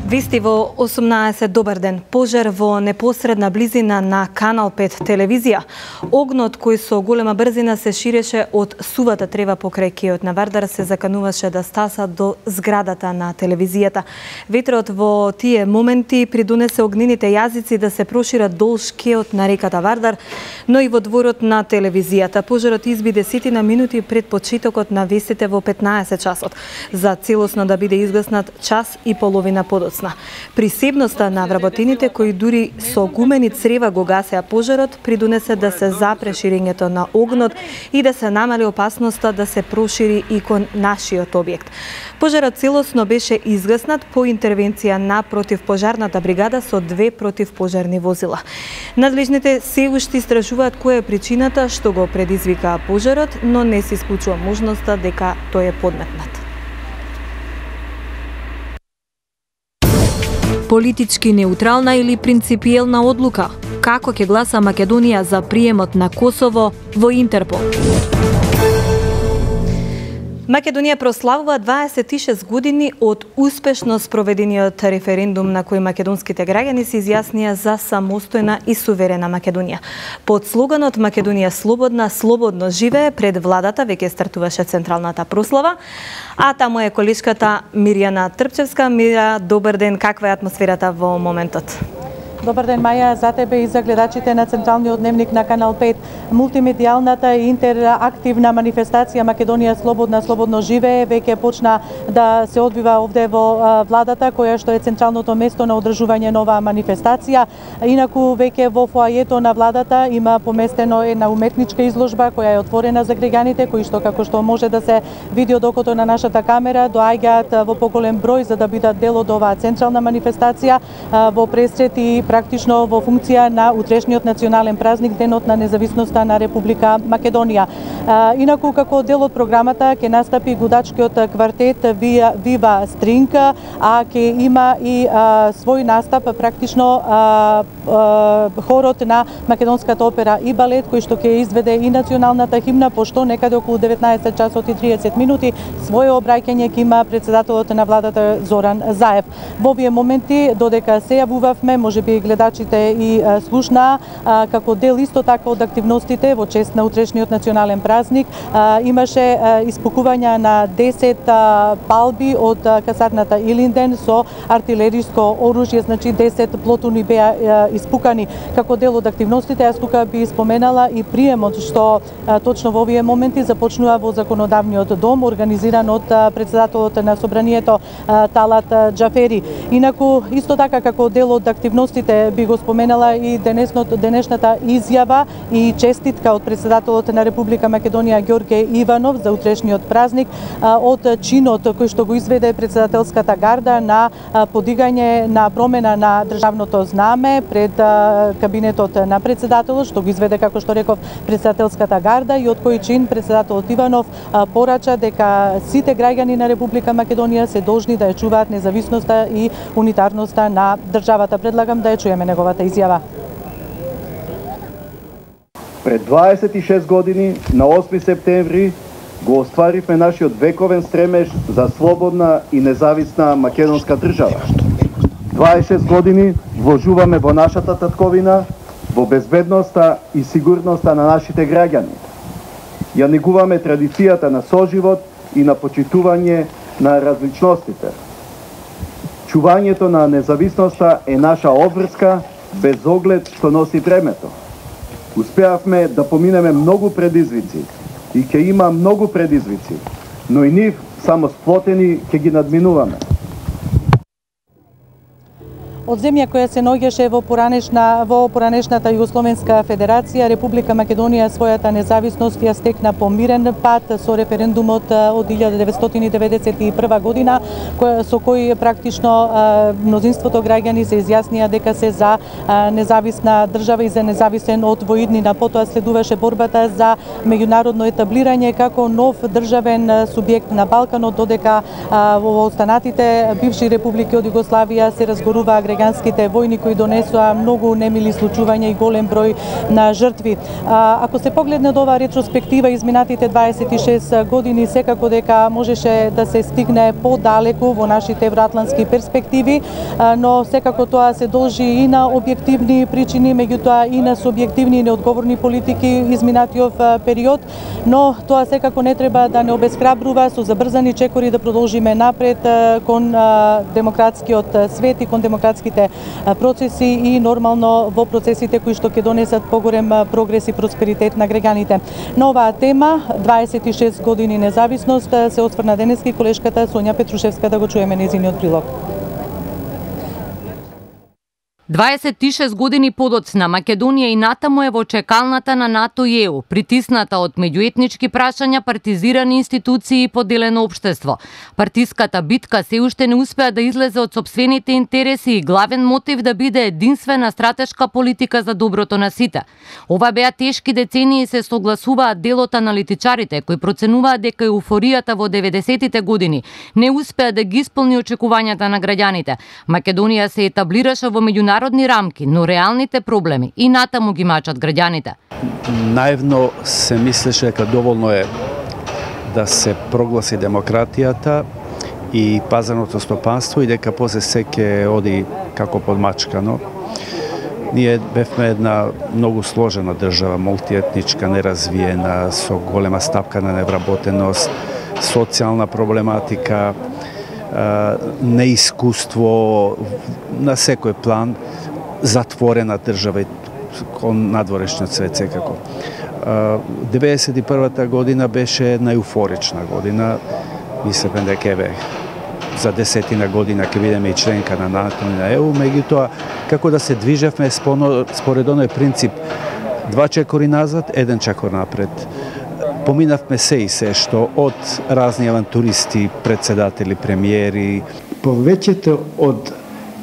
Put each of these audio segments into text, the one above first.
Вести во 18 добар ден. Пожар во непосредна близина на Канал 5 телевизија. Огнот кој со голема брзина се ширеше од сувата трева покрај кејот на Вардар се закануваше да стаса до зградата на телевизијата. Ветрот во тие моменти придонесе огнените јазици да се прошират долж кејот на реката Вардар, но и во дворот на телевизијата. Пожарот изби 10 минути пред почетокот на вестите во 15 часот, за целосно да биде изгаснат час и половина подоцна. Присебноста на вработените кои дури со гумени црева го гасеа пожарот придонесе да се запре ширењето на огнот и да се намали опасноста да се прошири и кон нашиот објект. Пожарот целосно беше изгаснат по интервенција на противпожарната бригада со 2 противпожарни возила. Надлежните се уште истражуваат која е причината што го предизвика пожарот, но не се исклучува можноста дека тој е подметнат. Политички неутрална или принципиелна одлука? Како ќе гласа Македонија за приемот на Косово во Интерпол? Македонија прославува 26 години од успешно спроведениот референдум на кој македонските граѓани се изјаснија за самостојна и суверена Македонија. Под слоганот Македонија слободна, слободно живее, пред владата веќе стартуваше централната прослава, а таму е колешката Мирјана Трпчевска. Мира, добар ден, каква е атмосферата во моментот? Добар ден, Маја, за тебе и за гледачите на Централниот дневник на Канал 5. Мултимедијалната и интерактивна манифестација Македонија слободна, слободно живее веќе почна да се одвива овде во владата, која што е централното место на одржување на оваа манифестација. Инаку веќе во фоајето на владата има поместено една уметничка изложба која е отворена за граѓаните, кои што како што може да се види од окото на нашата камера, доаѓаат во поголем број за да бидат дел од оваа централна манифестација во пресрет и практично во функција на утрешниот национален празник, денот на независноста на Република Македонија. Инаку како дел од програмата ќе настапи гудачкиот квартет Вива Стринг, а ќе има и свој настап практично хорот на Македонската опера и балет, кој што ќе изведе и националната химна, пошто некаде околу 19 часот и 30 минути своје обраќање ќе има председателот на владата Зоран Заев. Во овие моменти, додека се јавувавме, можеби гледачите и слушнаа, како дел исто така од активностите во чест на утрешниот национален празник, имаше испукување на 10 палби од касарната Илинден со артилериско оружје, значи 10 плотуни беа испукани како дел од активностите. Јас тука би споменала и приемот што точно во овие моменти започнува во законодавниот дом, организиран од председателот на собранието Талат Џафери. Инаку исто така како дел од активностите би го споменала и денешната изјава и честитка од председателот на Република Македонија Ѓорѓе Иванов за утрешниот празник од чинот кој што го изведе председателската гарда на подигање на промена на државното знаме пред кабинетот на председателот, што го изведе, како што реков, председателската гарда, и од кој чин председателот Иванов порача дека сите граѓани на Република Македонија се должни да ја чуваат независноста и унитарноста на државата. Предлагам да ја чуеме неговата изјава. Пред 26 години, на 8 септември, го остваривме нашиот вековен стремеж за слободна и независна македонска држава. 26 години вложуваме во нашата татковина, во безбедноста и сигурноста на нашите граѓани. Ја негуваме традицијата на соживот и на почитување на различностите. Чувањето на независноста е наша обврска, без оглед што носи времето. Успеавме да поминеме многу предизвици и ќе има многу предизвици, но и нив само сплотени ќе ги надминуваме. Од земја која се наоѓаше во поранешната Југословенска федерација, Република Македонија својата независност ја стекна по мирен пат со референдумот од 1991 година, со кој практично мнозинството граѓани се изјаснија дека се за независна држава и за независен од воиднина. Потоа следуваше борбата за меѓународно етаблирање како нов државен субјект на Балканот, додека во останатите бивши републики од Југославија се разгоруваа американските војни кои донесоа многу немили случувања и голем број на жртви. Ако се погледне од оваа ретроспектива изминатите 26 години, секако дека можеше да се стигне подалеку во нашите евроатлантски перспективи, но секако тоа се должи и на објективни причини, меѓутоа и на субјективни и неодговорни политики изминатиот период, но тоа секако не треба да не обесхрабрува со забрзани чекори да продолжиме напред кон демократскиот свет и кон демократските процеси и нормално во процесите кои што ќе донесат поголем прогрес и просперитет на граѓаните. На оваа тема 26 години независност се осврна денески колешката Сонја Петрушевска, да го чуеме нејзиниот прилог. 26 години подоцна Македонија и натаму е во чекалната на НАТО и ЕУ, притисната од меѓуетнички прашања, партизирани институции и поделено општество. Партиската битка се уште не успеа да излезе од сопствените интереси и главен мотив да биде единствена стратешка политика за доброто на сите. Ова беа тешки децении, се согласуваат дел од аналитичарите кои проценуваат дека еуфоријата во 90-тите години не успеа да ги исполни очекувањата на граѓаните. Македонија се етаблираше во меѓународни рамки, но реалните проблеми и натаму ги мачат граѓаните. Наивно се мислеше дека доволно е да се прогласи демократијата и пазарното стопанство и дека после се ќе оди како подмачкано. Ние бевме една многу сложена држава, мултиетничка, неразвиена, со голема стапка на невработеност, социјална проблематика, неискуство на секој план, затворена држава кон надворешниот свет секако. 91-та година беше една еуфорична година. Мислевме дека еве за 10 година ќе бидеме и членка на НАТО и на ЕУ, меѓутоа како да се движевме според оној принцип 2 чекори назад, 1 чекор напред. Поминавме се и се што од разни авантуристи, председатели, премиери. Повеќето од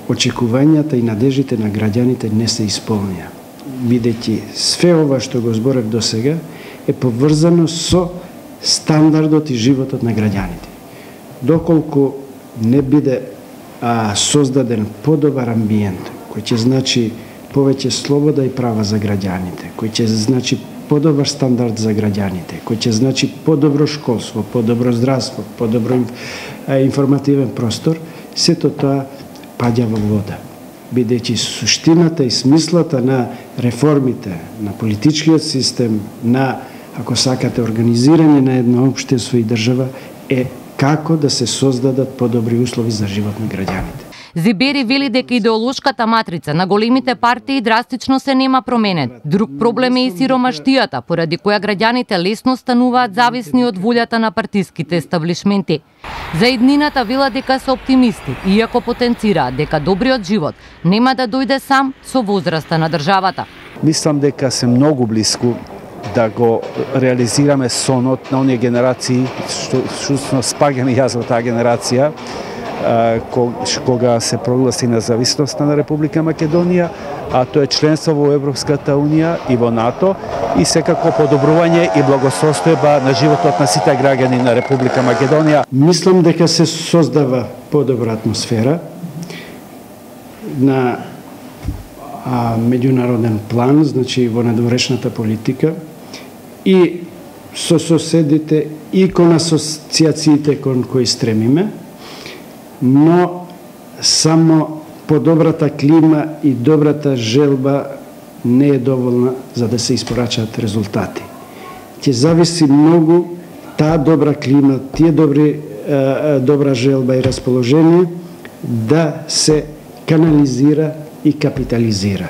очекувањата и надежите на граѓаните не се исполнија, бидејќи све ова што го зборев до сега е поврзано со стандардот и животот на граѓаните. Доколку не биде создаден подобар амбиент, кој ќе значи повеќе слобода и права за граѓаните, кој ќе значи подобар стандард за граѓаните, кој ќе значи подобро школство, подобро здравство, подобро информативен простор, сето тоа паѓа во вода. Бидејќи суштината и смислата на реформите, на политичкиот систем, на, ако сакате, организирање на едно општество и држава е како да се создадат подобри услови за живот на граѓаните. Зибери вели дека идеолошката матрица на големите партии драстично се нема променет. Друг проблем е и сиромаштијата, поради која граѓаните лесно стануваат зависни од волјата на партиските естаблишменти. За иднината вела дека се оптимисти, иако потенцираат дека добриот живот нема да дојде сам со возраста на државата. Мислам дека се многу блиску да го реализираме сонот на оние генерации, што спаѓам и јас во таа генерација, кога се прогласи независноста на Република Македонија, а тоа е членство во Европската Унија и во НАТО и секако подобрување и благосостојба на животот на сите граѓани на Република Македонија. Мислам дека се создава подобра атмосфера на меѓународен план, значи во надворешната политика и со соседите и кон асоциациите кон кои стремиме, но само подобрата клима и добрата желба не е доволна за да се испорачаат резултати. Ќе зависи многу таа добра клима, тие добра желба и расположение да се канализира и капитализира.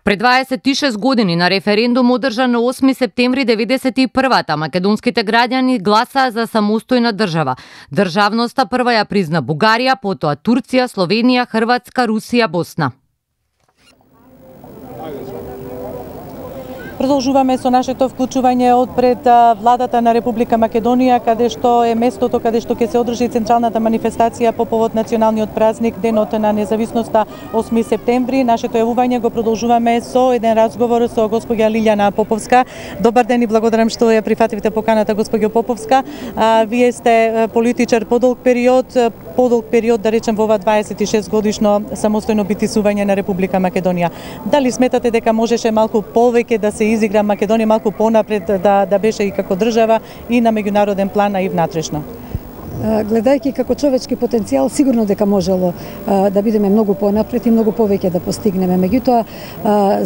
Пред 26 години на референдум одржан на 8 септември 91-та македонските граѓани гласаа за самостојна држава. Државноста прва ја призна Бугарија, потоа Турција, Словенија, Хрватска, Русија, Босна. Продолжуваме со нашето вклучување од пред владата на Република Македонија, каде што е местото каде што ќе се одржи централната манифестација по повод националниот празник, денот на независноста 8 септември. Нашето јавување го продолжуваме со еден разговор со госпоѓа Лилјана Поповска. Добар ден и благодарам што ја прифативте поканата, госпоѓо Поповска. Вие сте политичар подолг период, подолг период, да речем во ова 26 годишно самостојно битисување на Република Македонија. Дали сметате дека можеше малку повеќе да се изигра Македонија малку понапред да беше и како држава и на меѓународен план, а и внатрешно? Гледајќи како човечки потенцијал, сигурно дека можело да бидеме многу понапред и многу повеќе да постигнеме. Меѓутоа,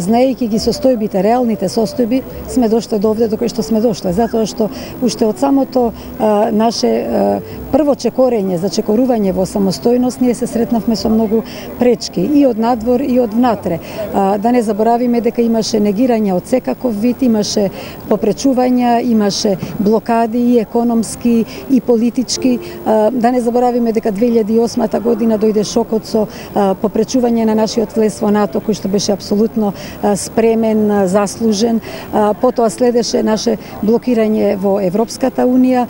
знаејќи ги состојбите, реалните состојби, сме дошле до овде до кој што сме дошле, затоа што уште од самото наше прво чекорење за чекорување во самостојност ние се сретнавме со многу пречки и од надвор и од внатре. Да не заборавиме дека имаше негирање од секаков вид, имаше попречувања, имаше блокади и економски и политички. Да не заборавиме дека 2008 година дојде шокот со попречување на нашиот влез во НАТО, кој што беше апсолутно спремен, заслужен. Потоа следеше наше блокирање во Европската унија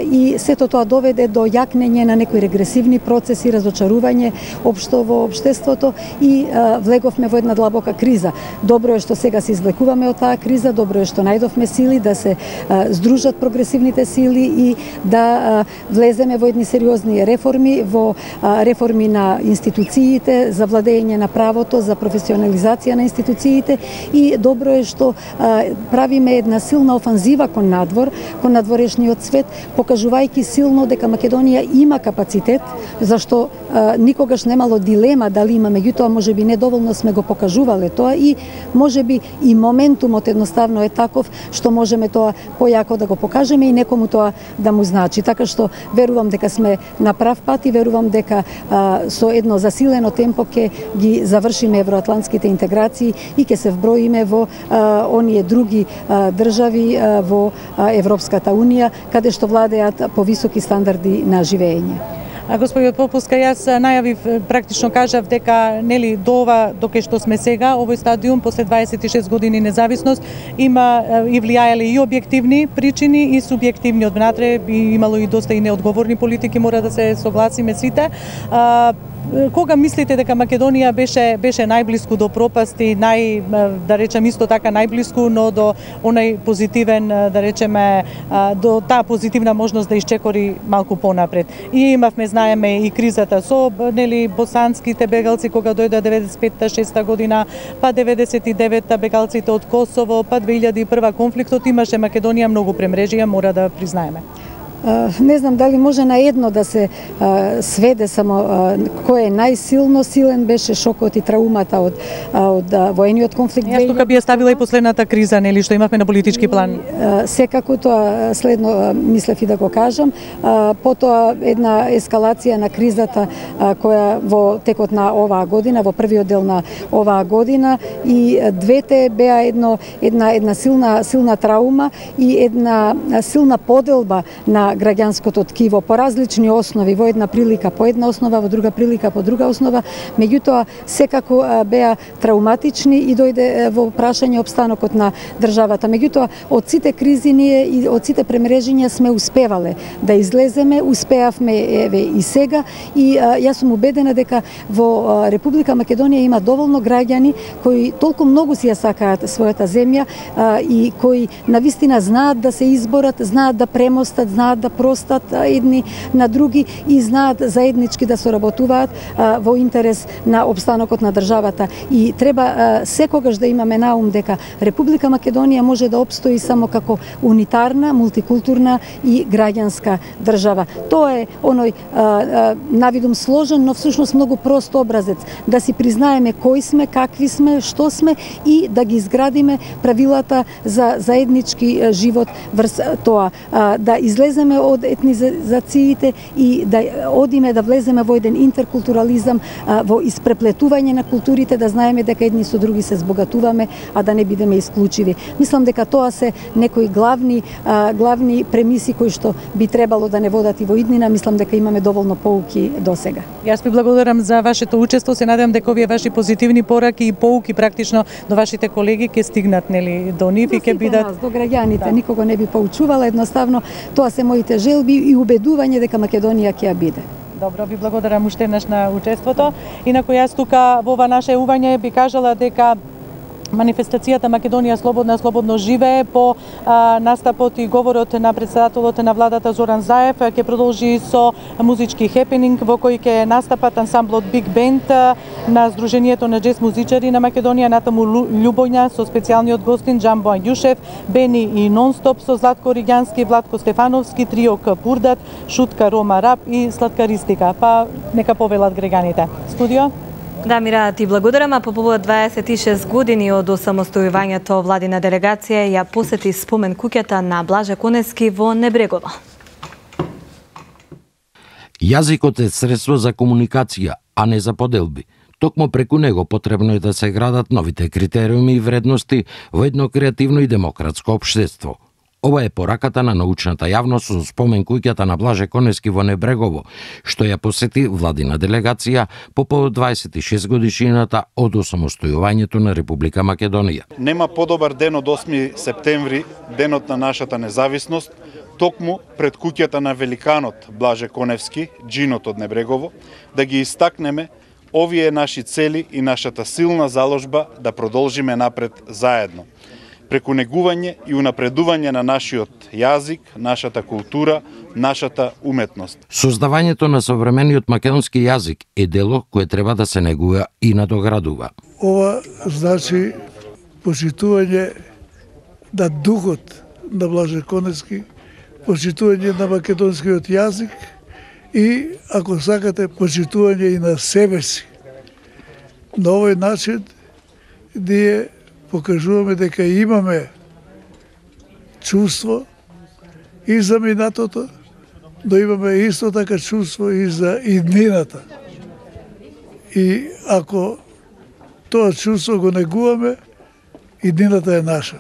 и сето тоа доведе до јакнење на некои регресивни процеси, разочарување општо во општеството и влеговме во една длабока криза. Добро е што сега се излекуваме од таа криза, добро е што најдовме сили да се здружат прогресивните сили и да влеземе во едни сериозни реформи, во реформи на институциите, за владење на правото, за професионализација на институциите и добро е што правиме една силна офанзива кон надвор, кон надворешниот свет, покажувајќи силно дека Македонија има капацитет, зашто никогаш немало дилема дали има, меѓутоа можеби недоволно сме го покажувале тоа и можеби и моментумот едноставно е таков што можеме тоа појако да го покажеме и некому тоа да му значи. Така што верувам дека сме на прав пат и верувам дека со едно засилено темпо ќе ги завршиме евроатлантските интеграции и ќе се вброиме во оние други држави во Европската унија, каде што владеат повисоки стандарди на живење. Господјот Попуска, јас најавив, практично кажав дека нели до ова, до кај што сме сега, овој стадиум после 26 години независност има и влијаеле и објективни причини и субјективни од внатре, и имало и доста и неодговорни политики, мора да се согласиме сите. Кога мислите дека Македонија беше најблиску до пропасти, да речем исто така најблиску, но до онај позитивен, да речеме, до таа позитивна можност да исчекори малку понапред. И имавме, знаеме, и кризата со нели босанските бегалци кога дојде 95-6 година, па 99-та бегалците од Косово, па 2001 конфликтот, имаше Македонија многу премрежија, мора да признаеме. Не знам дали може на едно да се сведе само кој е најсилно. Силен беше шокот и траумата од воениот конфликт. Јас тука би ја ставила и последната криза, нели, што имавме на политички план. Секако тоа следно мислев и да го кажам. Потоа една ескалација на кризата која во текот на оваа година, во првиот дел на оваа година, и двете беа една силна траума и една силна поделба на граѓанското ткиво по различни основи, во една прилика по една основа, во друга прилика по друга основа, меѓутоа секако беа трауматични и дојде во прашање опстанокот на државата. Меѓутоа од сите кризи ние и од сите премрежиња сме успевале да излеземе, успеавме еве и сега и јас сум убедена дека во Република Македонија има доволно граѓани кои толку многу си ја сакаат својата земја и кои навистина знаат да се изборат, знаат да премостат, знаат да простат едни на други и знаат заеднички да соработуваат во интерес на опстанокот на државата. И треба секогаш да имаме на ум дека Република Македонија може да опстои само како унитарна, мултикултурна и граѓанска држава. Тоа е оној навидум сложен, но всушност многу прост образец да си признаеме кои сме, какви сме, што сме и да ги изградиме правилата за заеднички живот врз тоа. Да излеземе од етнизациите и да одиме да влеземе во еден интеркултурализам, во испреплетување на културите, да знаеме дека едни со други се збогатуваме, а да не бидеме исклучиви. Мислам дека тоа се некои главни премиси кои што би требало да не водат и во иднина. Мислам дека имаме доволно поуки до сега. Јас ви благодарам за вашето учество. Се надевам дека овие ваши позитивни пораки и поуки практично до вашите колеги ќе стигнат, нели, до нив и ќе бидат до граѓаните. Да. Никого не би поучувала, едноставно тоа се моите желби и убедување дека Македонија ќе ја биде. Добро, ви благодарам уште еднаш на учеството. Инаку јас тука во ова наше ување би кажала дека манифестацијата Македонија слободна, слободно живее по настапот и говорот на претседателот на владата Зоран Заев ќе продолжи со музички хепенинг во кој ќе настапат ансамблот Big Band на Сдруженијето на джез музичари на Македонија, натаму Љубоња со специјалниот гостин Џамбо Ањушев, Бени и Нонстоп со Златко Риѓански, Владко Стефановски, Трио Пурдат, Шутка Рома Рап и Сладкаристика. Па нека повелат граѓаните. Студио? Да, Мира, ти благодарам, а по повод 26 години од осамостојувањето владина делегација ја посети спомен куќата на Блаже Коневски во Небрегово. Јазикот е средство за комуникација, а не за поделби. Токму преку него потребно е да се градат новите критериуми и вредности во едно креативно и демократско општество. Ова е пораката на научната јавност со спомен куќата на Блаже Коневски во Небрегово, што ја посети владина делегација по повод 26 годишнината од осамостојувањето на Република Македонија. Нема подобар ден од 8 септември, денот на нашата независност, токму пред куќата на великанот Блаже Коневски, джинот од Небрегово, да ги истакнеме овие наши цели и нашата силна заложба да продолжиме напред заедно. Преку негување и унапредување на нашиот јазик, нашата култура, нашата уметност. Создавањето на современиот македонски јазик е дело кое треба да се негува и надоградува. Ова значи почитување на духот на Блаже Коневски, почитување на македонскиот јазик и, ако сакате, почитување и на себе си. На овој начин ние покажуваме дека имаме чувство и за минатото, но имаме исто така чувство и за иднината. И ако тоа чувство го негуваме, иднината е наша.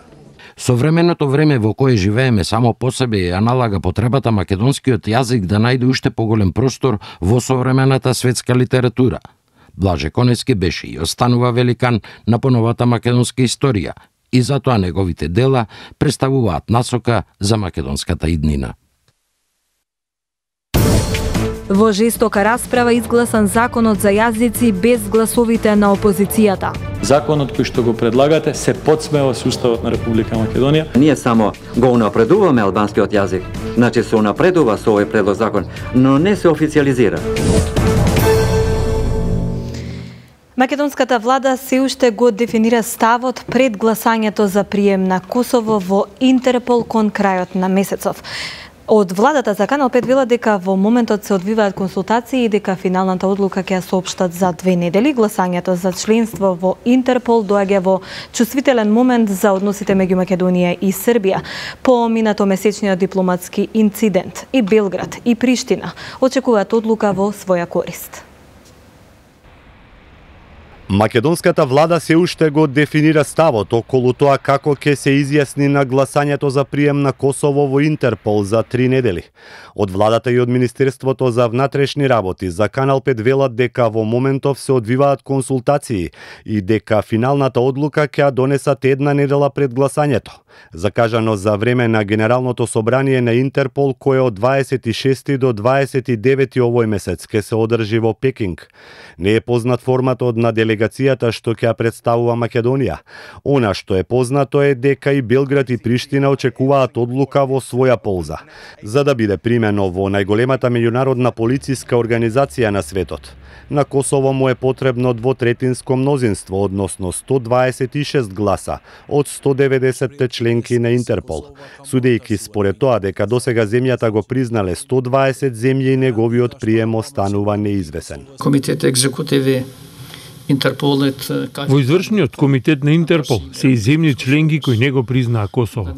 Современото време во кое живееме само по себе ја налага потребата македонскиот јазик да најде уште поголем простор во современата светска литература. Блаже Коневски беше и останува великан на поновата македонска историја и затоа неговите дела представуваат насока за македонската иднина. Во жестока расправа изгласан законот за јазици без гласовите на опозицијата. Законот кој што го предлагате се подсмева со Уставот на Република Македонија. Ние само го унапредуваме албанскиот јазик, значи се унапредува со овој предлог закон, но не се официализира. Македонската влада се уште го дефинира ставот пред гласањето за прием на Косово во Интерпол кон крајот на месецов. Од владата за Канал 5 вела дека во моментот се одвиваат консултации и дека финалната одлука ќе ја соопштат за 2 недели. Гласањето за членство во Интерпол доаѓа во чувствителен момент за односите меѓу Македонија и Србија. По минатомесечниот дипломатски инцидент и Белград и Приштина очекуваат одлука во своја корист. Македонската влада се уште го дефинира ставот околу тоа како ќе се изјасни на гласањето за прием на Косово во Интерпол за 3 недели. Од владата и од Министерството за внатрешни работи за Канал 5 велат дека во моментов се одвиваат консултации и дека финалната одлука ќе ја донесат 1 недела пред гласањето, закажано за време на Генералното собрание на Интерпол кое од 26 до 29 овој месец ќе се одржи во Пекинг. Не е познат форматот на делегацијата што ќе ја представува Македонија. Она што е познато е дека и Белград и Приштина очекуваат одлука во своја полза, за да биде примено во најголемата меѓународна полициска организација на светот. На Косово му е потребно двотретинско мнозинство, односно 126 гласа од 190 членки на Интерпол. Судејќи според тоа дека досега земјата го признале 120 земји и неговиот прием останува неизвесен. Комитет екзекутиви Интерполет. Во извршниот комитет на Интерпол се и земји членки кои не го признаа Косово.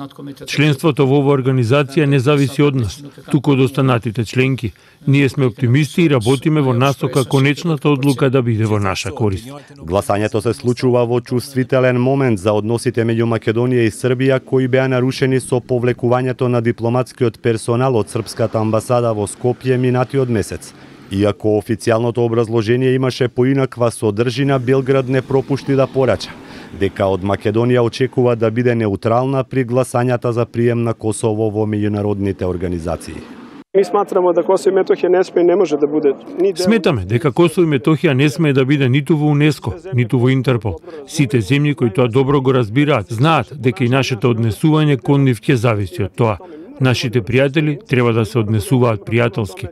Членството во оваа организација не зависи од нас, туку од останатите членки. Ние сме оптимисти и работиме во насока конечната одлука да биде во наша корист. Гласањето се случува во чувствителен момент за односите меѓу Македонија и Србија кои беа нарушени со повлекувањето на дипломатскиот персонал од српската амбасада во Скопје минатиот месец. Иако официјалното образложение имаше поинаква содржина, Белград не пропушти да порача дека од Македонија очекува да биде неутрална при гласањата за прием на Косово во меѓународните организации. Ми сматраме да Косово и Метохија не сме и не може да биде ни дел. Сметаме дека Косово и Метохија не сме да биде ниту во УНЕСКО, ниту во Интерпол. Сите земји кои тоа добро го разбираат, знаат дека и нашето однесување кон нив ќе зависи од тоа. Нашите пријатели треба да се однесуваат пријателски.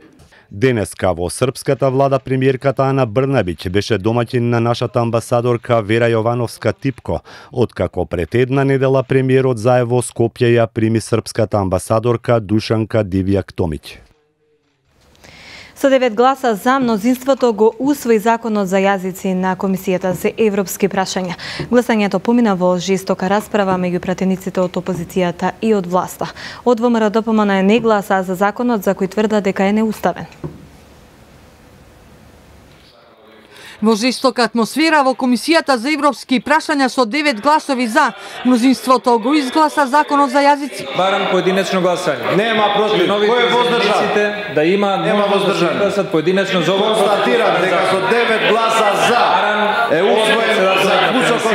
Денеска во српската влада премиерката Ана Брнабиќ беше домаќин на нашата амбасадорка Вера Јовановска Типко, откако пред една недела премиерот заедно во Скопје ја прими српската амбасадорка Душанка Дивјак Томиќ. Со 9 гласа за, мнозинството го усвои законот за јазици на Комисијата за европски прашања. Гласањето помина во жестока расправа меѓу пратениците од опозицијата и од власта. Од ВМРО ДПМН не гласа за законот за кој тврда дека е неуставен. Во жестока атмосфера во Комисијата за европски прашања со 9 гласови за, мнозинството го изгласа законот за јазици. Барам поединечно гласање. Нема против. Кој е воздржан? Да има воздржан. Гласат поединечно за ова. Констатирам дека со 9 гласа за е усвоен заклучокот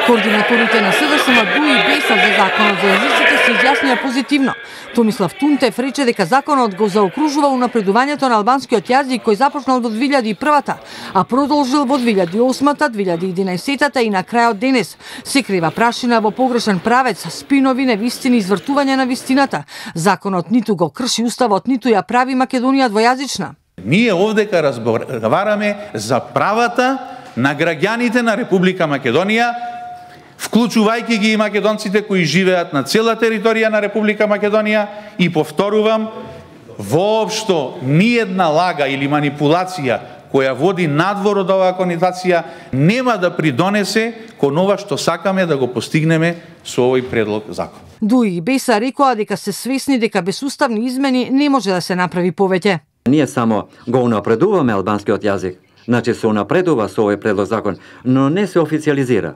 Координаторите на СДСМ Дуи Беса за законот за јазиците се изјаснија позитивно. Томислав Тунтев рече дека законот го заокружува унапредувањето на албанскиот јазик кој започнал во 2001-та, а продолжил во 2008-та, 2011-та и на крајот денес. Се крива прашина во погрешен правец, спинови, невистини, извртување на вистината. Законот ниту го крши уставот, ниту ја прави Македонија двојазична. Ние овдека разговараме за правата на граѓаните на Република Македонија, вклучувајќи ги и македонците кои живеат на цела територија на Република Македонија и повторувам, воопшто ниедна лага или манипулација која води надвор од оваа конотација нема да придонесе кон ова што сакаме да го постигнеме со овој предлог закон. Дуи Беса рекоа дека се свесни дека без уставни измени не може да се направи повеќе. Ние само го унапредуваме албанскиот јазик, значи се унапредува со овој предлог закон, но не се официализира.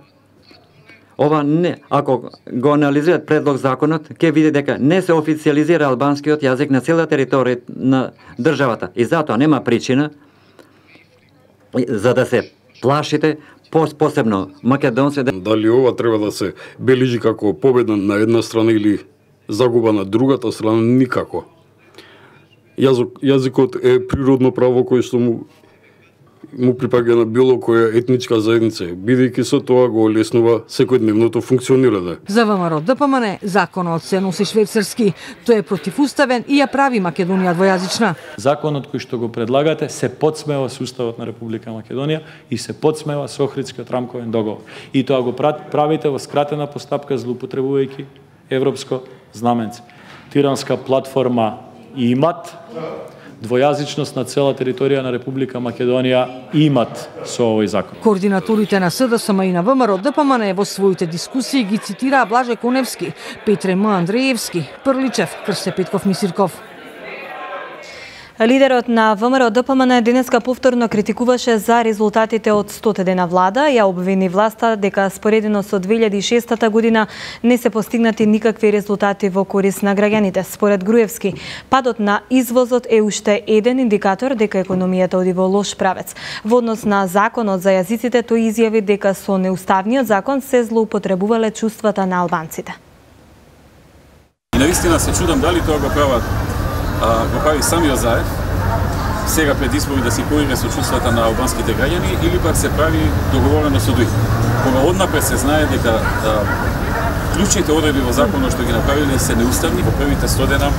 Ова не, ако го анализираат предлог законот, ќе види дека не се официализира албанскиот јазик на цела територија на државата. И затоа нема причина за да се плашите, посебно македонци. Дали ова треба да се бележи како победа на една страна или загуба на другата страна? Никако. Јазикот е природно право кој што му припаѓа на било која етничка заедница, бидејќи со тоа го олеснува секојдневното функционирање. За ВМРО ДПМН законот се носи швейцарски, тој е противуставен и ја прави Македонија двојазична. Законот кој што го предлагате се подсмева со уставот на Република Македонија и се подсмева со Охридскиот рамковен договор. И тоа го правите во скратена постапка злоупотребувајќи европско знаменце. Тиранска платформа имат двојазичност на цела територија на Република Македонија имат со овој закон. Координаторите на СДСМ и на ВМРО ДПМН во своите дискусии ги цитираа Блаже Коневски, Петре М. Андреевски, Прличев, Крсе Петков Мисирков. Лидерот на ВМРО ДПМН денеска повторно критикуваше за резултатите од 100 дена влада, ја обвини власта дека споредено со 2006 година не се постигнати никакви резултати во корист на граѓаните. Според Груевски, падот на извозот е уште еден индикатор дека економијата оди во лош правец. Во однос на законот за јазиците, тој изјави дека со неуставниот закон се злоупотребувале чувствата на албанците. И навистина се чудам дали тоа го прави самиот Заев, сега пред избори да си поигра со чувствата на албанските граѓани или пак се прави договорено со ДУИ. Кога однапред се знае дека клучните одредби во законот што ги направиле се неуставни, во првите 100 дена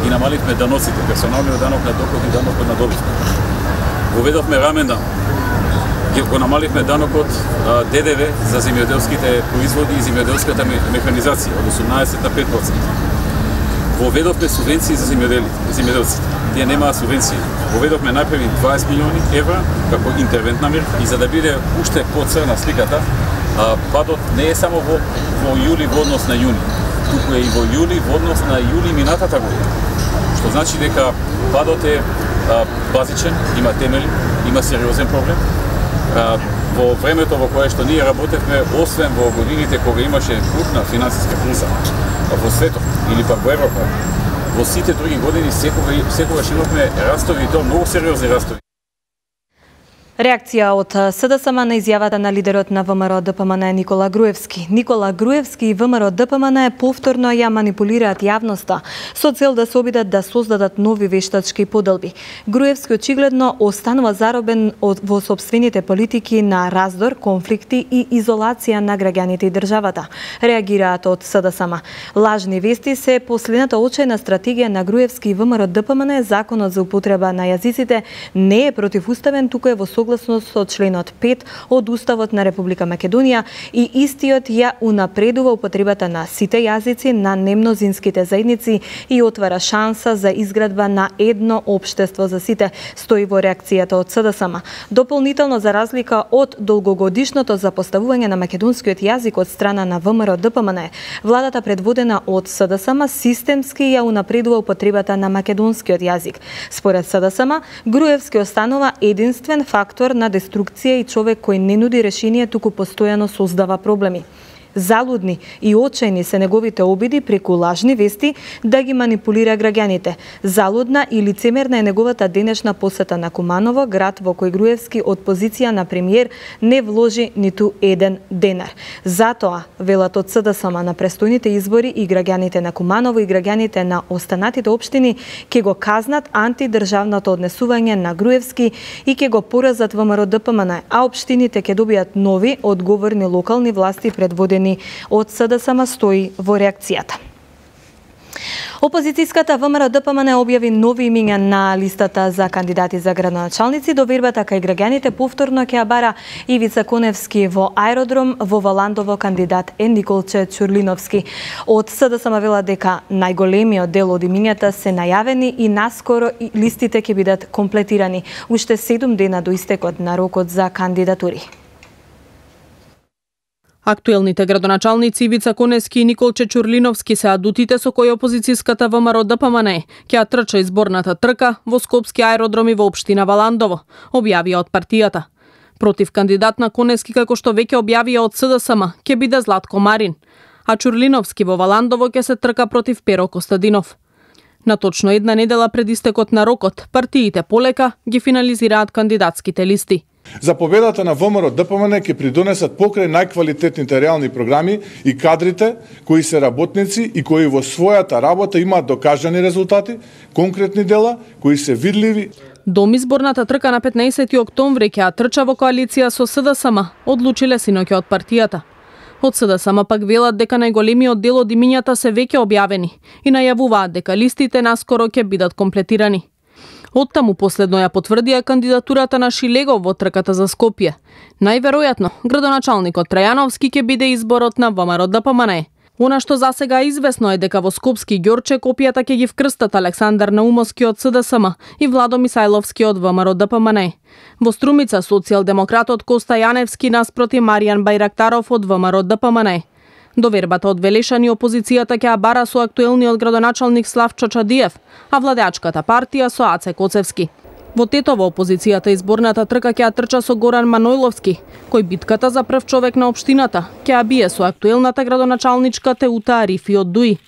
ги намалихме даноците, персоналниот данок на доход и данокот на добивка. Воведовме рамен дан, го намалихме данокот ДДВ за земјоделските производи и земјоделската механизација од 18 на 5%. Воведовме субвенции за земјоделците. Тие немаат субвенции. Воведовме најпрви 20 милиони евра како интервентна мерка и за да биде уште поцрна сликата, падот не е само во јули во однос на јуни, туку е и во јули во однос на јули минатата година. Што значи дека падот е базичен, има темели, има сериозен проблем. Во времето во кое што ние работевме, освен во годините кога имаше крупна финансиска криза во светот или пак во Европа, во сите други години секогаш имавме растови и тоа многу сериозни растови. Реакција од СДСМ на изјавата на лидерот на ВМРО ДПМН Никола Груевски. Никола Груевски и ВМРО ДПМН повторно ја манипулираат јавноста со цел да се обидат да создадат нови вештачки поделби. Груевски очигледно останува заробен во сопствените политики на раздор, конфликти и изолација на граѓаните и државата. Реагираат од СДСМ. Лажни вести се последната очајна стратегија на Груевски и ВМРО ДПМН. Законот за употреба на јазиците не е противуставен, туку е во согласност со членот 5 од Уставот на Република Македонија и истиот ја унапредува употребата на сите јазици на немнозинските заедници и отвара шанса за изградба на едно општество за сите, стои во реакцијата од СДСМ. Дополнително, за разлика од долгогодишното запоставување на македонскиот јазик од страна на ВМРО ДПМН, владата предводена од СДСМ системски ја унапредува употребата на македонскиот јазик. Според СДСМ, Груевски останува единствен фактор на деструкција и човек кој не нуди решение, туку постојано создава проблеми. Залудни и очајни се неговите обиди преку лажни вести да ги манипулира граѓаните. Залудна и лицемерна е неговата денешна посета на Куманово, град во кој Груевски од позиција на премиер не вложи ниту еден денар. Затоа, велат од СДСМ, на престојните избори и граѓаните на Куманово и граѓаните на останатите општини ќе го казнат антидржавното однесување на Груевски и ќе го поразат ВМРО ДПМН, а општините ќе добијат нови одговорни локални власти предводени од СДСМ, стои во реакцијата. Опозицијската ВМРО ДПМН објави нови имиња на листата за кандидати за градоначалници. Довербата кај граѓаните повторно ќе ја бара Ивица Коневски во Аеродром, во Валандово кандидат е Николче Чурлиновски. Од СДСМ вела дека најголемиот дел од имињата се најавени и наскоро листите ќе бидат комплетирани. Уште 7 дена до истекот на рокот за кандидатури. Актуелните градоначалници Ивица Коневски и Николче Чурлиновски се адутите со кои опозицијската ВМРО ДПМН ќе ја трча изборната трка во Скопски аеродром и во општина Валандово, објавија од партијата. Против кандидат на Коневски, како што веќе објавија од СДСМ, ќе биде Златко Марин, а Чурлиновски во Валандово ќе се трка против Перо Костадинов. На точно една недела пред истекот на рокот, партиите полека ги финализираат кандидатските листи. За победата на ВМРО ДПМН ќе придонесат покрај најквалитетните реални програми и кадрите кои се работници и кои во својата работа имаат докажани резултати, конкретни дела кои се видливи. Дом изборната трка на 15 октомври ќе ја трча во коалиција со СДСМ, одлучиле синоќа од партијата. Од СДСМ пак велат дека најголемиот дел од имињата се веќе објавени и најавуваат дека листите наскоро ќе бидат комплетирани. Оттаму последно ја потврдија кандидатурата на Шилегов во трката за Скопје. Најверојатно, градоначалникот Трајановски ќе биде изборот на ВМРО ДПМН. Она што засега известно е дека во Скопски Ѓорче копијата ќе ги вкрстат Александар Наумовски од СДСМ и Владо Мисајловски од ВМРО ДПМН. Во Струмица социјалдемократот Коста Јаневски наспроти Маријан Бајрактаров од ВМРО ДПМН. Довербата од Велешани опозицијата ќе ја бара со актуелниот градоначалник Славчо Чадиев, а владеачката партија со Аце Коцевски. Во Тетово опозицијата изборната трка ќе ја трча со Горан Манојловски, кој битката за прв човек на општината ќе ја бие со актуелната градоначалничка Теута Арифи од Дуи.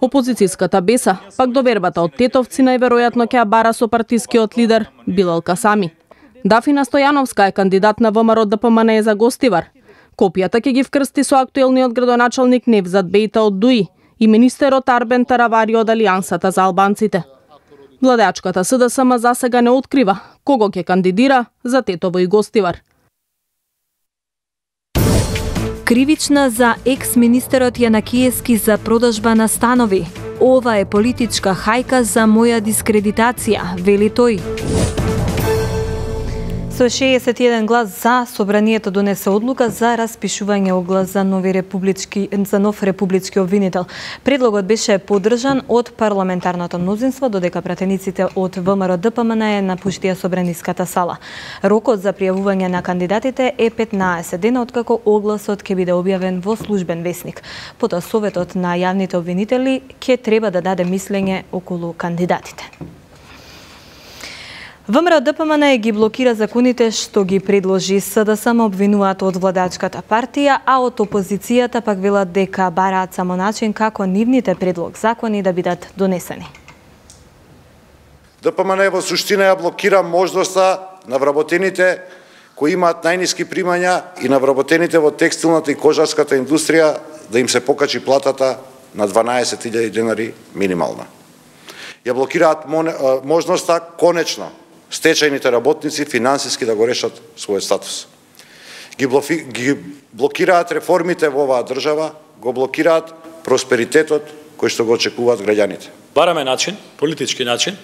Опозицијската Беса пак довербата од Тетовци најверојатно ќе ја бара со партискиот лидер Билал Касами. Дафина Стојановска е кандидат на ВМРО ДПМН за Гостивар. Копијата ќе ги вкрсти со актуелниот градоначалник Невзат Бејта од Дуи и министерот Арбен Таравари од Алијансата за албанците. Владеачката СДСМ засега не открива кого ќе кандидира за Тетово и Гостивар. Кривична за екс-министерот Јанакиевски за продажба на станови. Ова е политичка хајка за моја дискредитација, вели тој. Со 61 глас за, собранието донесе одлука за распишување оглас за нов републички обвинител. Предлогот беше поддржан од парламентарното мнозинство, додека пратениците од ВМРО ДПМН напуштија собраниската сала. Рокот за пријавување на кандидатите е 15 дена откако огласот ќе биде објавен во службен весник. Потоа Советот на јавните обвинители ќе треба да даде мислење околу кандидатите. ВМРО ДПМН ги блокира законите што ги предложи СДСМ, обвинуваат од владачката партија, а од опозицијата пак велат дека бараат само начин како нивните предлог закони да бидат донесени. ДПМН во суштина ја блокира можноста на вработените кои имаат најниски примања и на вработените во текстилната и кожарската индустрија да им се покачи платата на 12.000 денари минимална. Ја блокираат можноста конечно стечајните работници финансиски да го решат својот статус. Ги блокираат реформите во оваа држава, го блокираат просперитетот кој што го очекуваат граѓаните. Бараме начин, политички начин,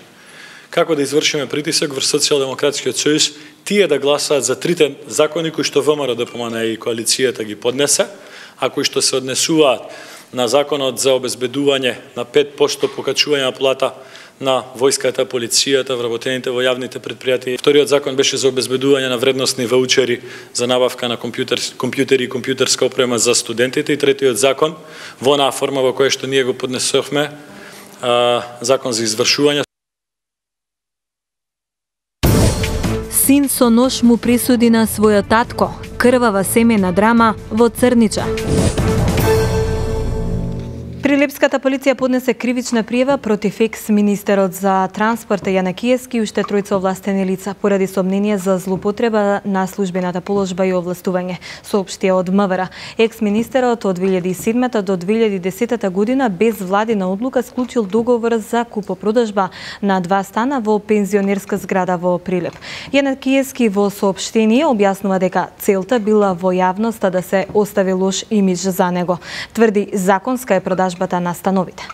како да извршиме притисок врз Социјалдемократскиот сојуз, тие да гласаат за трите закони кои што ВМРО-ДПМНЕ и коалицијата ги поднесе, а кои што се однесуваат на законот за обезбедување на 5% покачување на плата на војската, полицијата, вработените во јавните предпријатија. Вториот закон беше за обезбедување на вредносни ваучери за набавка на компјутери и компјутерска опрема за студентите. И третиот закон, во онаа форма во која што ние го поднесовме, закон за извршување. Син со нож му присуди на својот татко. Крвава семејна драма во Црнича. Прилепската полиција поднесе кривична пријава против екс-министерот за транспорт Јана Киевски и уште тројца овластени лица поради сомнение за злоупотреба на службената положба и овластување, соопштија од МВР. Екс-министерот од 2007 до 2010 година без владина одлука склучил договор за купопродажба на 2 стана во пензионерска зграда во Прилеп. Јана Киевски во соопштение објаснува дека целта била во јавноста да се остави лош имидж за него. Тврди законска е продажбата на становите.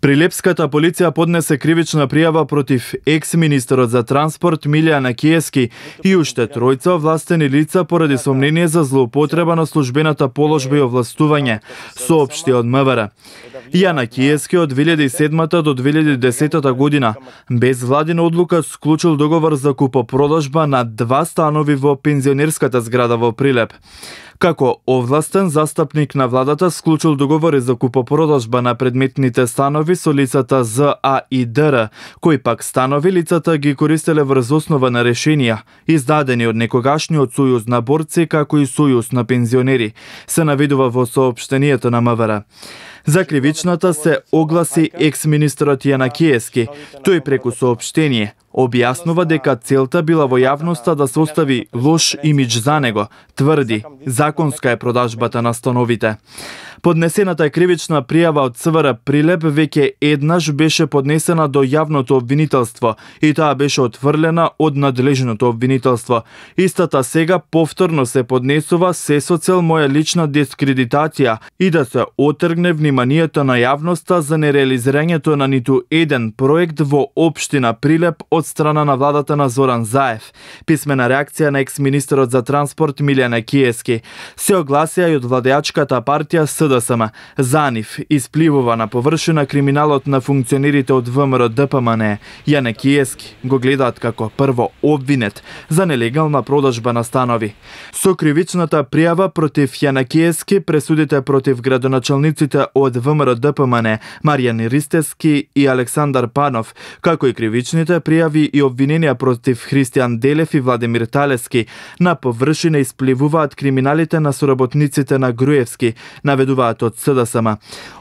Прилепската полиција поднесе кривична пријава против екс-министерот за транспорт Милјана Киевски и уште тројца овластени лица поради сомнение за злоупотреба на службената положба и овластување, соопшти од МВР. Јана Киевски од 2007 до 2010 година без владина одлука склучил договор за купопродажба на 2 станови во пензионерската зграда во Прилеп. Како овластен застапник на владата склучил договори за купопродажба на предметните станови со лицата ЗА и ДР, кои пак станови лицата ги користеле врз основа на решенија, издадени од некогашниот сојуз на борци како и сојуз на пензионери, се наведува во соопштението на МВР. За кривичната се огласи екс-министерот Јана Киевски. Тој преку соопштение објаснува дека целта била во јавноста да се остави лош имидж за него, тврди, законска е продажбата на становите. Поднесената кривична пријава од ЦВР Прилеп веќе еднаш беше поднесена до јавното обвинителство и таа беше отфрлена од надлежното обвинителство. Истата сега повторно се поднесува се со цел моја лична дискредитација и да се отргне вниманието на јавноста за нереализирањето на ниту еден проект во општина Прилеп од страна на владата на Зоран Заев. Писмена реакција на екс-министерот за транспорт Милјана Киевски. Се огласија и од владеачката партија СДСМ. За нив испливува на површина криминалот на функционерите од ВМРО-ДПМНЕ. Јана Киевски го гледаат како прво обвинет за нелегална продажба на станови. Со кривичната пријава против Јана Киевски пресудите против градоначалниците од ВМРО-ДПМНЕ Маријан Ристевски и Александар Панов, како и кривичните пријави и обвиненија против Христијан Делев и Владимир Талески, на површина испливуваат криминалите на соработниците на Груевски, наведуваат од СДСМ.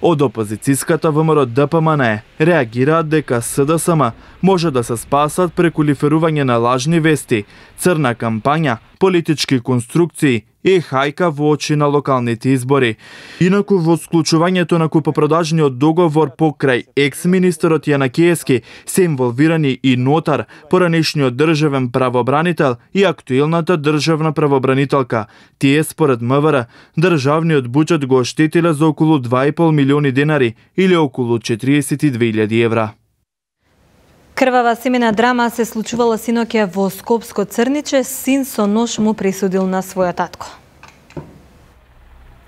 Од опозицијската ВМРО-ДПМНЕ реагираат дека СДСМ може да се спасат преку лиферување на лажни вести, црна кампања, политички конструкции и хајка во очи на локалните избори. Инаку во склучувањето на купопродажниот договор покрај екс-министерот Јана Киевски се инволвирани и нотар, поранешниот државен правобранител и актуелната државна правобранителка. Тие според МВР државниот буџет го оштетиле за околу 2,5 милиони денари или околу 42.000 евра. Крвава семена драма се случувала синоќа во Скопско Црниче, син со нож му присудил на својот татко.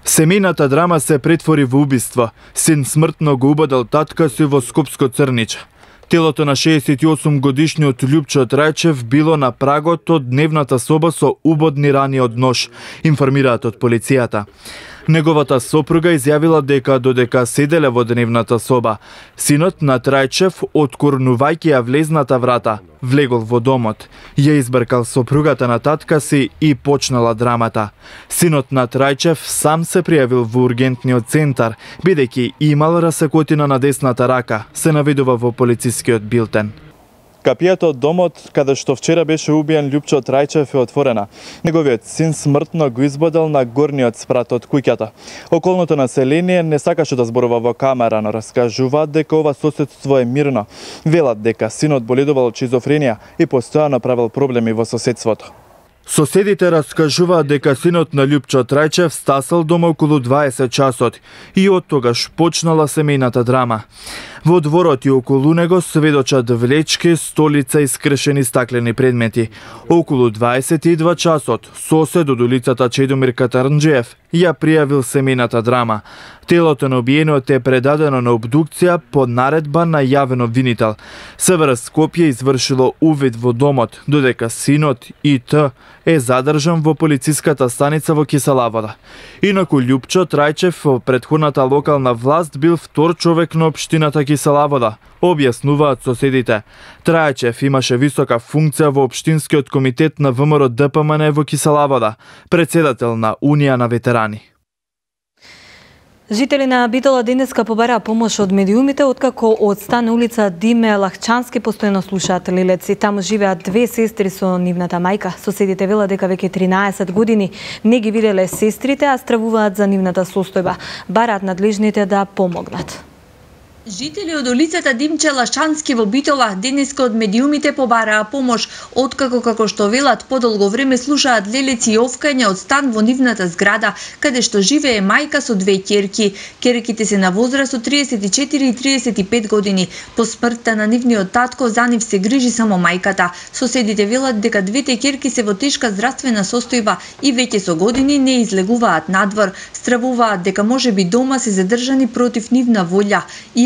Семејната драма се претвори во убиство. Син смртно го убадал татка си во Скопско Црниче. Телото на 68 годишниот Љупчо Трајчев било на прагот од дневната соба со убодни рани од нож, информираат од полицијата. Неговата сопруга изјавила дека додека седеле во дневната соба, синот на Трајчев, откорнувајќи ја влезната врата, влегол во домот, ја избркал сопругата на татка си и почнала драмата. Синот на Трајчев сам се пријавил во ургентниот центар, бидејќи имал расекотина на десната рака, се наведува во полицискиот билтен. Капијата од домот каде што вчера беше убиен Љупчо Трајчев е отворена. Неговиот син смртно го избодел на горниот спрат од куќата. Околното население не сакаше да зборува во камера, но раскажуваат дека ова соседство е мирно. Велат дека синот боледувал од шизофренија и постојано правел проблеми во соседството. Соседите раскажуваат дека синот на Љупчо Трајчев стасал дома околу 20 часот и од тогаш почнала семејната драма. Во дворот и околу него сведочат влечки, столица и скршени стаклени предмети. Околу 22 часот сосед од улицата Чедомир Катарнџиев ја пријавил семејната драма. Телото на убиениот е предадено на обдукција по наредба на јавен обвинител. СВР Скопје извршило увид во домот, додека синот И.Т. е задржан во полициската станица во Киселавода. Инаку Љупчо Трајчев во претходната локална власт бил втор човек на општината Киселавода, објаснуваат соседите. Трајчев имаше висока функција во општинскиот комитет на ВМРО ДПМН во Киселавода, председател на Унија на ветерани. Жители на Битола денеска побараа помош од медиумите, откако од стан на улица Диме Лахчански постојано слушаат лелеци. Таму живеат две сестри со нивната мајка. Соседите велат дека веќе 13 години не ги виделе сестрите, а стравуваат за нивната состојба. Бараат надлежните да помогнат. Жители од улицата Димче Лашански во Битола денеска од медиумите побараа помош, откако како што велат подолго време слушаат лелеци и овкања од стан во нивната зграда, каде што живее мајка со две ќерки. Ќерките се на возраст од 34 и 35 години. По смртта на нивниот татко за нив се грижи само мајката. Соседите велат дека двете ќерки се во тешка здравствена состојба и веќе со години не излегуваат надвор. Стравуваат дека можеби дома се задржани против нивна волја.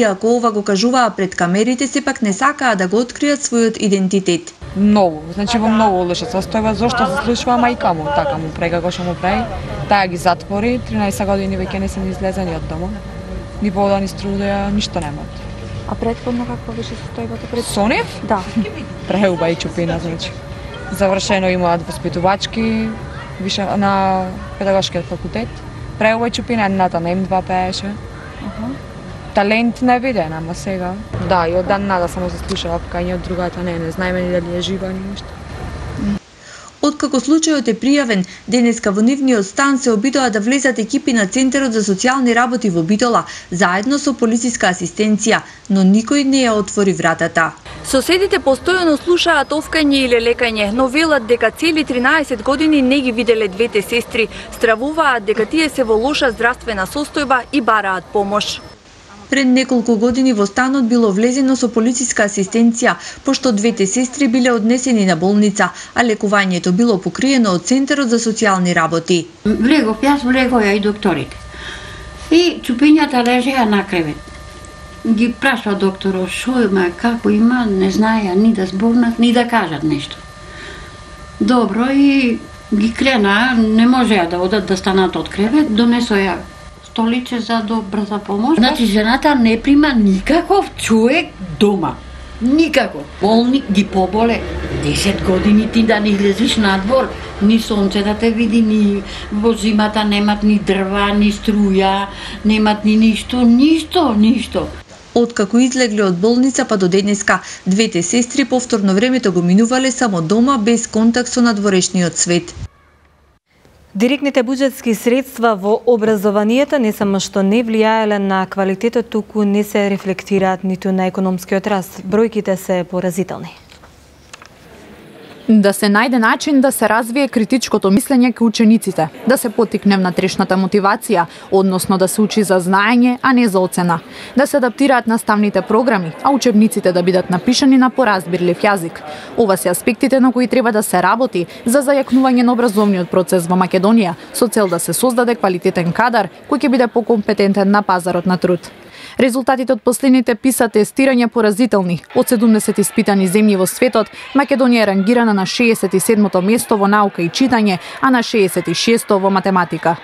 Иако ова го кажуваа пред камерите, сепак не сакаа да го откријат својот идентитет. Многу, значи во многу лоша состојба, зошто се слушува мајка му, така му прави како што му прави. Таа ги затвори, 13 години веќе не се ни излезани од дома. Ни вода, ни струја, ништо немат. А претходно каква беше состојбата пред? Со нив? Да. Преуба и чупина, значи. Завршено имаат воспитувачки, више на педагошкиот факултет. Преуба и чупина, едната на М2 пееше. Талент не виден, ама сега. Да, и од дан нада само се слушава вкање, од другата не знаеме ни дали е жива ни нешто. Откако случајот е пријавен, денеска во нивниот стан се обидоа да влезат екипи на Центарот за социјални работи во Битола, заедно со полициска асистенција, но никој не ја отвори вратата. Соседите постојано слушаат овкање или лекање, но велат дека цели 13 години не ги виделе двете сестри, стравуваат дека тие се во лоша здравствена состојба и бараат помош. Пред неколку години во станот било влезено со полициска асистенција, пошто двете сестри биле однесени на болница, а лекувањето било покриено од Центарот за социјални работи. Влегов ја и докторите. И чупињата лежеа на кревет. Ги прашува докторот шо има, како има, не знаеа ни да зборнат, ни да кажат нешто. Добро, и ги крена, не можеа да одат да станат од кревет, донесоја столиче за брза помош. Значи, жената не прима никаков човек дома. Никако. Болник ги поболе. 10 години ти да не излезиш надвор, ни сонце да те види, ни во зимата немат ни дрва, ни струја, немат ни ништо. Откако излегле од болница па до денеска, двете сестри повторно времето го минувале само дома без контакт со надворешниот свет. Директните буџетски средства во образованието не само што не влијаеле на квалитетот, туку не се рефлектираат ниту на економскиот раст. Бројките се поразителни. Да се најде начин да се развие критичкото мислење кај учениците, да се поттикне внатрешната мотивација, односно да се учи за знаење, а не за оцена, да се адаптираат наставните програми, а учебниците да бидат напишани на поразбирлив јазик. Ова се аспектите на кои треба да се работи за зајакнување на образовниот процес во Македонија, со цел да се создаде квалитетен кадар кој ќе биде покомпетентен на пазарот на труд. Резултатите од последните PISA тестирања поразителни. Од 70 испитани земји во светот, Македонија е рангирана на 67-то место во наука и читање, а на 66-то во математика.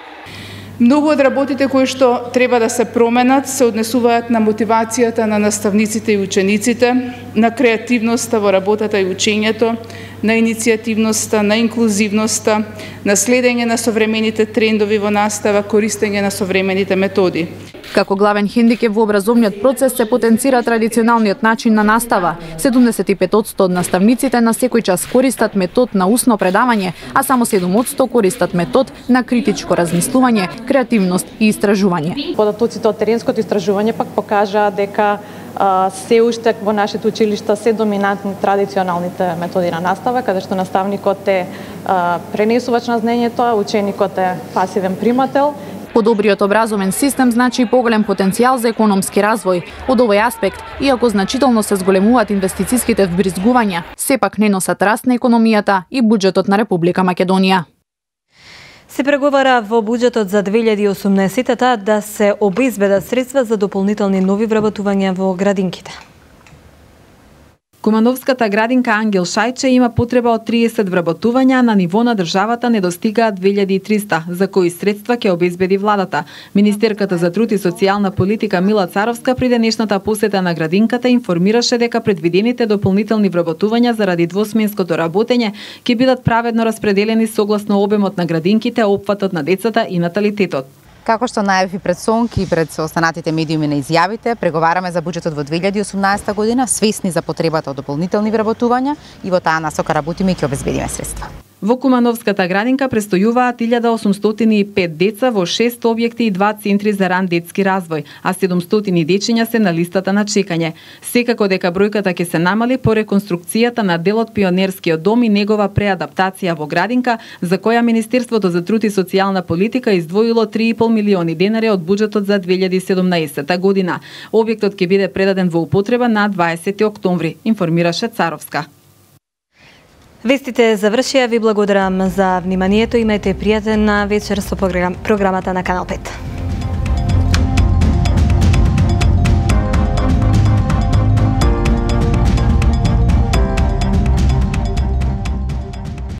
Многу од работите кои што треба да се променат се однесуваат на мотивацијата на наставниците и учениците, на креативноста во работата и учењето, на иницијативноста, на инклузивноста, на следење на современите трендови во настава, користење на современите методи. Како главен хендикеп во образовниот процес се потенцира традиционалниот начин на настава. 75% од наставниците на секој час користат метод на усно предавање, а само 7% користат метод на критичко размислување, креативност и истражување. Податоците од теренското истражување пак покажаа дека се уште во нашите училишта се доминантни традиционалните методи на настава, каде што наставникот е пренесувач на знаењето, а ученикот е пасивен примател. Подобриот образовен систем значи поголем потенцијал за економски развој. Од овој аспект, иако значително се зголемуваат инвестициските вбризгувања, сепак не носат раст на економијата и буџетот на Република Македонија. Се преговара во буџетот за 2018 да се обезбедат средства за дополнителни нови вработувања во градинките. Кумановската градинка Ангел Шајче има потреба од 30 вработувања, на ниво на државата недостигаат 2300, за кои средства ќе обезбеди владата. Министерката за труд и социјална политика Мила Царовска при денешната посета на градинката информираше дека предвидените дополнителни вработувања заради двосменското работење ќе бидат праведно распределени согласно обемот на градинките, опфатот на децата и наталитетот. Како што најави пред СОНК и пред останатите медиуми на изјавите, преговараме за буџетот во 2018 година, свесни за потребата од дополнителни вработувања и во таа насока работиме и ќе обезбедиме средства. Во Кумановската градинка престојуваат 1805 деца во 6 објекти и 2 центри за ран детски развој, а 700 дечиња се на листата на чекање. Секако дека бројката ќе се намали по реконструкцијата на дел од Пионерскиот дом и негова преадаптација во градинка, за која Министерството за труд и социјална политика издвоило 3,5 милиони денари од буџетот за 2017 година. Објектот ќе биде предаден во употреба на 20 октомври, информираше Царовска. Вестите завршија, ви благодарам за вниманието, имајте пријатен вечер со програмата на Канал 5.